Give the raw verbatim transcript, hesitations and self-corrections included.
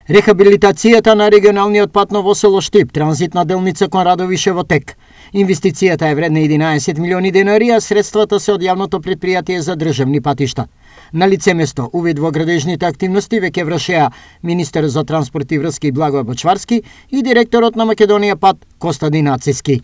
Рехабилитацијата на регионалниот пат во село Штип, транзитна делница кон Радовише во тек. Инвестицијата е вредна единаесет милиони денари, а средствата се од јавното претпријатие за државни патишта. На лице место, увид во градежните активности веќе вршеа министер за транспорт и врски Благој Бочварски и директорот на Македонија пат Костадин Ациски.